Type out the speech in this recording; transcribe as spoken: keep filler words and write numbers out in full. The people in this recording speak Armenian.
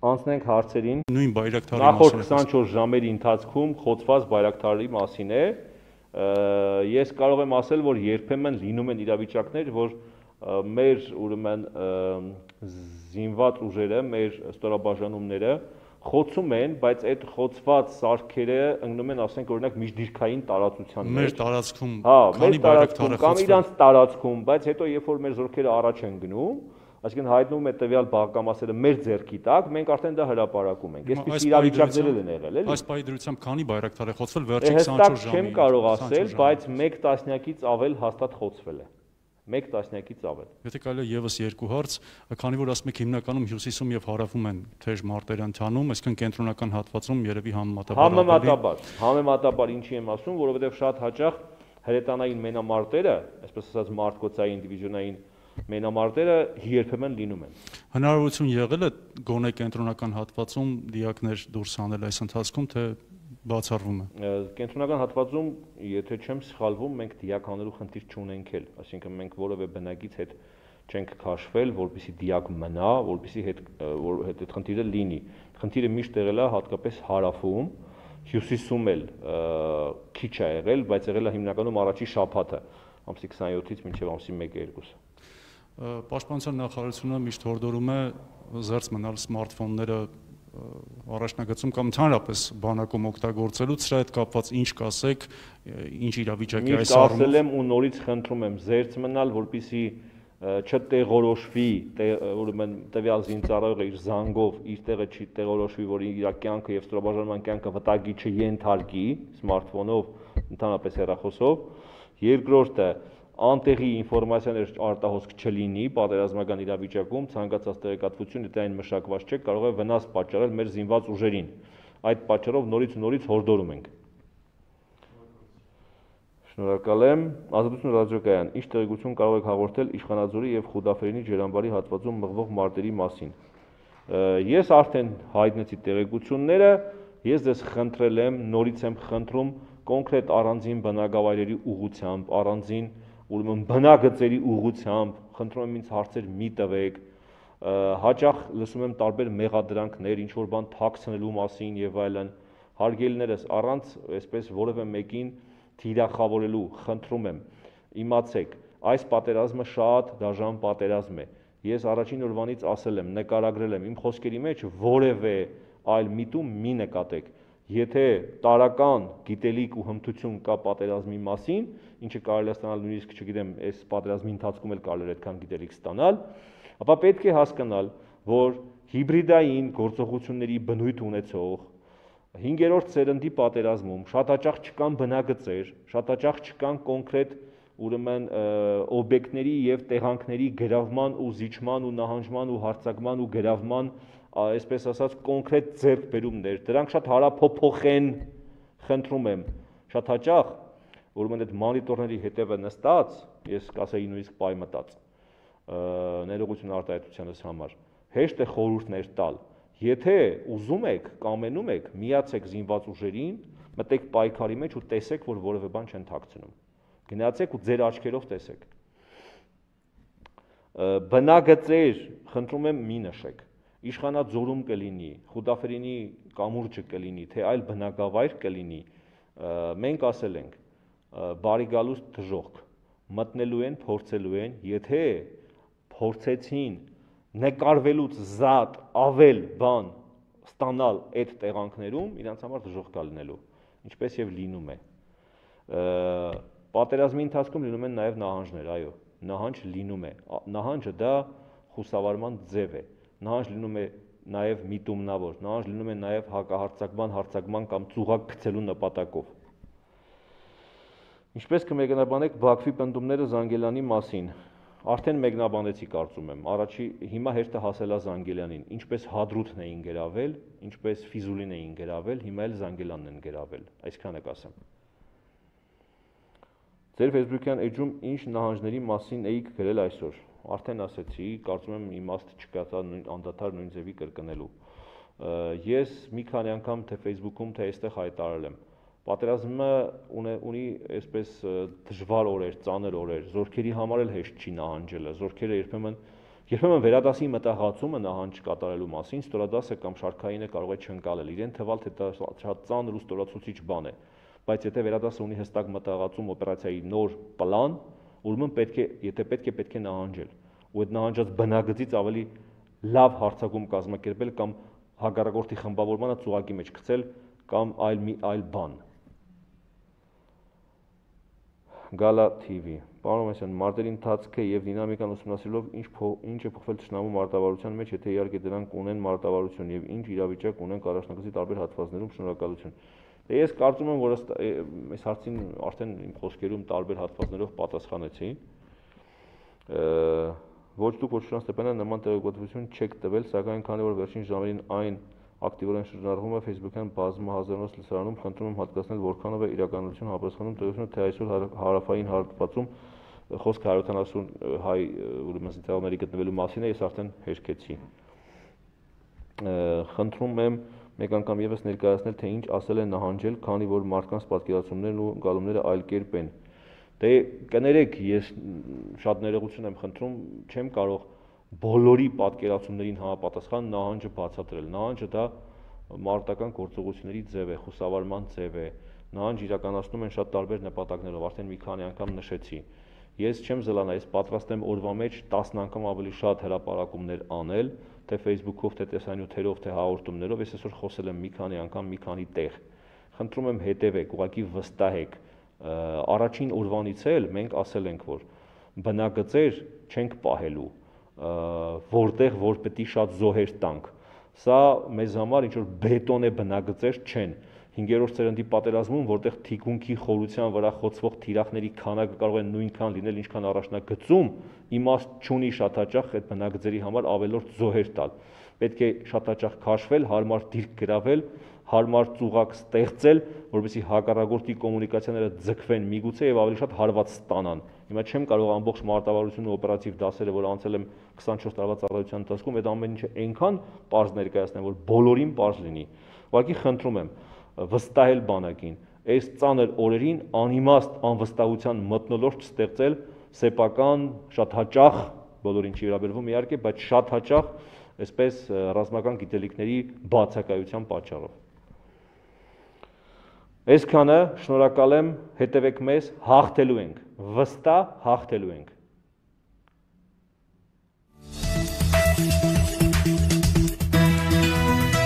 Անցնենք հարցերին։ Նույն Բայրակտարի Նախորդ քսանչորս ժամերի ընթացքում խոցված Բայրակտարի մասին է։ Ես կարող եմ ասել, որ երբեմն լինում են իրավիճակներ, որ մեր ուրեմն զինված ուժերը, մեր ստորաբաժանումները խոցում են, բայց այդ խոցված սարքերը ընկնում են, ասենք օրինակ միջդիրքային տարածության մեջ։ Մեր տարածքում, քանի Բայրակտար է խոցվում, կամ իրանց տարածքում, բայց հետո երբ որ մեր զորքերը առաջ են գնում, այսինքն հայտնվում է տվյալ բաղկամասերը մեր ձեռքի տակ, մենք արդեն դա հրապարակում ենք։ Այսպես իրավիճակներ են եղել, էլի։ Այս պայդրությամբ քանի Բայրակտար է խոցվել վերջին քսանչորս ժամի։ Չեմ կարող ասել, բայց մեկ տասնյակից ավել հաստատ խոցվել է։ Մեկ տասնյակից ավել։ Եթե կարելի է եւս երկու հարց, քանի որ ասում եք հիմնականում հյուսիսում եւ հարավում են թեժ մարտեր ընթանում, այսինքն կենտրոնական հատվածում երևի համեմատաբար Համեմատաբար, համեմատաբար ինչի եմ ասում, որովհետեւ շատ հաճախ հրետանային մենամարտերը, այսպես ասած մարտկոցային դիվիզիոնային մենամարտերը երբեմն լինում են։ Հնարավորություն եղել է գոնե կենտրոնական հատվածում դիակներ դուրս հանել այս ընթացքում, թե բացառվում է։ Կենտրոնական հատվածում, եթե չեմ սխալվում, մենք դիակ հանելու խնդիր չունենք էլ, այսինքն մենք որևէ բնակից հետ չենք քաշվել, որպեսզի դիակ մնա, որպեսզի հետ որ հետ այդ խնդիրը լինի։ Խնդիրը միշտ եղել է հատկապես հարավում, հյուսիսում էլ քիչ է եղել, բայց եղել է հիմնականում առաջի շաբաթը, ամսի քսանյոթից մինչև ամսի մեկը երկուսը։ Պաշտպանության նախարարությունը միշտ հորդորում է զերծ մնալ սմարթֆոնները առաջնագծում կամ ընդհանրապես բանակում օգտագործելուց, սրա հետ կապված ինչ կասեք, ինչ իրավիճակ է այս առումով։ Միշտ ասել եմ ու նորից խնդրում եմ զերծ մնալ, որպեսզի չտեղորոշվի, ուրեմն տվյալ զինծառայողը իր զանգով իր տեղը չի տեղորոշվի, որ իր կյանքը եւ ստորաբաժանման կյանքը վտանգի չենթարկի սմարթֆոնով, ընդհանրապես հեռախոսով։ Երկրորդը անտեղի ինֆորմացիաներ արտահոսք չլինի պատերազմական իրավիճակում, ցանկացած տեղեկատվություն, եթե այն մշակված չէ, կարող է վնաս պատճառել մեր զինված ուժերին։ Այդ պատճառով նորից ու նորից հորդորում ենք։ Շնորհակալ եմ։ Ազատություն ռադիոկայան, ինչ տեղեկություն կարող եք հաղորդել Իշխանաձորի եւ Խուդաֆերինի ջրամբարի հատվածում մղվող մարտերի մասին։ Ես արդեն հայտնեցի տեղեկությունները, ես ձեզ խնդրել եմ, նորից եմ խնդրում կոնկրետ առանձին բնակավայրերի ուղղությամբ, առանձին ուրեմն բնագծերի ուղղությամբ, խնդրում եմ ինձ հարցեր մի տվեք, հաճախ լսում եմ տարբեր մեղադրանքներ, ինչ որ բան թաքցնելու մասին եւ այլն, հարգելիներս առանց այսպես որևէ մեկին թիրախավորելու, խնդրում եմ, իմացեք, այս պատերազմը շատ դաժան պատերազմ է։ Ես առաջին օրվանից ասել եմ, նկարագրել եմ, իմ խոսքերի մեջ որևէ այլ միտում մի նկատեք։ Եթե տարական գիտելիք ու հմտություն կա պատերազմի մասին, ինչը կարելի է ստանալ նույնիսկ, չգիտեմ, այս պատերազմի ընթացքում էլ կարելի է այդքան գիտելիք ստանալ, ապա պետք է հասկանալ, որ հիբրիդային գործողությունների բնույթ ունեցող հինգերորդ սերնդի պատերազմում շատ հաճախ չկան բնագծեր, շատ հաճախ չկան կոնկրետ ուրեմն օբյեկտների եւ տեղանքների գրավման ու զիջման ու նահանջման ու հարձակման ու գրավման այսպես ասած կոնկրետ ձեռքբերումներ, դրանք շատ հարափոփոխ են, խնդրում եմ, շատ հաճախ, ուրեմն այդ մոնիտորների հետևը նստած, ես կասեի նույնիսկ պայմտած, ներողություն արտահայտությանս համար, հեշտ է խորհուրդներ տալ, եթե ուզում եք, կամենում եք, միացեք զինված ուժերին, մտեք պայքարի մեջ ու տեսեք, որ որևէ բան չեն թաքցնում, գնացեք ու ձեր աչքերով տեսեք, բնագծեր, խնդրում եմ մի նշեք, Իշխանաձորում կլինի, Խուդաֆերինի կամուրջը կլինի, թե այլ բնակավայր կլինի, մենք ասել ենք, բարի գալուստ դժոխք, մտնելու են, փորձելու են, եթե փորձեցին նկարվելուց զատ ավել բան ստանալ այդ տեղանքներում, իրանց համար դժոխք կա լինելու, ինչպես եւ լինում է։ Պատերազմի ընթացքում լինում են նաեւ նահանջներ, այո, նահանջ լինում է, նահանջը դա խուսավարման ձև է։ Նահանջ լինում է նաև միտումնավոր, նահանջ լինում է նաև հակահարձակման, հարձակման կամ ծուղակ գցելու նպատակով։ Ինչպես կմեկնաբանեք Բաքվի պնդումները Զանգելյանի մասին, արդեն մեկնաբանեցի կարծում եմ, առաջի հիմա հերթը հասել է Զանգելյանին, ինչպես Հադրութն էին գրավել, ինչպես Ֆիզուլին էին գրավել, հիմա էլ Զանգելյանն են գրավել, այսքանը կասեմ։ Ձեր Facebook-յան էջում ինչ նահանջների մասին էիք գրել այսօր։ Արդեն ասեցի, կարծում եմ իմաստ չկա անդադար նույն ձևի կրկնելու։ Ես մի քանի անգամ թե Facebook-ում, թե այստեղ հայտարարել եմ։ Պատերազմը ունի այսպես դժվար օրեր, ծանր օրեր, զորքերի համար էլ հեշտ չի նահանջելը, զորքերը երբեմն Երբեմն վերադասի մտահղացումը նահանջ կատարելու մասին ստորադասը կամ շարքայինը կարող է չընկալել, իրեն թվալ թե դա շատ ծանր ու ստորացուցիչ բան է, բայց եթե վերադասը ունի հստակ մտահղացում օպերացիայի նոր պլան, ուրեմն պետք է, եթե պետք է պետք է նահանջել, ու այդ նահանջած բնագծից ավելի լավ հարձակում կազմակերպել կամ հակառակորդի խմբավորմանը ծուղակի մեջ գցել կամ այլ մի այլ բան։ Գալա թի վի Պարոն Մեսյան, մարտերի ընթացքը եւ դինամիկան ուսումնասիրելով ինչ ինչ է փոխվել թշնամու մարտավարության մեջ, եթե իհարկե դրանք ունեն մարտավարություն եւ ինչ իրավիճակ ունեն առաջնակցի տարբեր հատվածներում, շնորհակալություն։ Դե ես կարծում եմ, որ այս հարցին արդեն իմ խոսքերում տարբեր հատվածներով պատասխանեցի։ Ոչ դուք ոչ Շուրան Ստեփանյան նման տեղեկատվություն չեք տվել, սակայն քանի որ վերջին ժամերին այն ակտիվորեն շրջանառվում է Facebook-յան բազմահազարանոց լսարանում, խնդրում եմ հատկացնել որքանով է իրականություն համապատասխանում տեղությունը, թե այսօր հարավային հատվածում խոսքը հարյուր ութանասուն հայ ուրեմն զինծառայողների գտնվելու մասին է, ես արդեն հերքեցի։ Խնդրում եմ մեկ անգամ եւս ներկայացնել, թե ինչ ասել են նահանջել, քանի որ մարդկանց պատկերացումներն ու գալումները այլ կերպ են։ Դե կներեք, ես շատ ներողություն եմ խնդրում, չեմ կարող բոլորի պատկերացումներին համապատասխան նահանջը բացատրել։ Նահանջը դա մարտական գործողությունների ձև է, խուսավարման ձև է։ Նահանջ իրականացնում են շատ տարբեր նպատակներով, արդեն մի քանի անգամ նշեցի։ Ես չեմ զլանա, ես պատրաստ եմ օրվա մեջ տասն անգամ ավելի շատ հրապարակումներ անել, թե Facebook-ով, թե տեսանյութերով, թե հաղորդումներով, ես այսօր խոսել եմ մի քանի անգամ մի քանի տեղ։ Խնդրում եմ հետևեք, ուղղակի վստահեք։ Առաջին օրվանից էլ մենք ասել ենք, որ բնագծեր չենք պահելու, որտեղ որ պետք է շատ զոհեր տանք։ Սա մեզ համար ինչ որ բետոնե բնագծեր չեն։ Հինգերորդ սերնդի պատերազմում, որտեղ թիկունքի խորության վրա խոցվող թիրախների քանակը կարող է նույնքան լինել, ինչքան առաջնագծում, իմաստ չունի շատ հաճախ այդ բնագծերի համար ավելորդ զոհեր տալ։ Պետք է շատ հաճախ քաշվել, հարմար դիրք գրավել, հարմար ծուղակ ստեղծել, որպեսզի հակառակորդի կոմունիկացիաները ձգվեն միգուցե եւ ավելի շատ հարված ստանան։ Հիմա չեմ կարող ամբողջ մարտավարությունը օպերատիվ դասերը, որ անցել եմ քսանչորս տարվա ծառայության ընթացքում, այդ ամեն ինչը այնքան པարզ ներկայացնեմ, որ բոլորին པարզ լինի։ Ուղղակի խնդրում եմ վստահել բանակին, այս ծանր օրերին անիմաստ անվստահության մթնոլորտ չստեղծել սեփական շատ հաճախ, բոլորին չի վերաբերվում իհարկե, բայց շատ հաճախ այսպես ռազմական գիտելիքների բացակայության պատճառով։ Այսքանը, շնորհակալ եմ, հետևեք մեզ, հաղթելու ենք, վստահ հաղթելու ենք։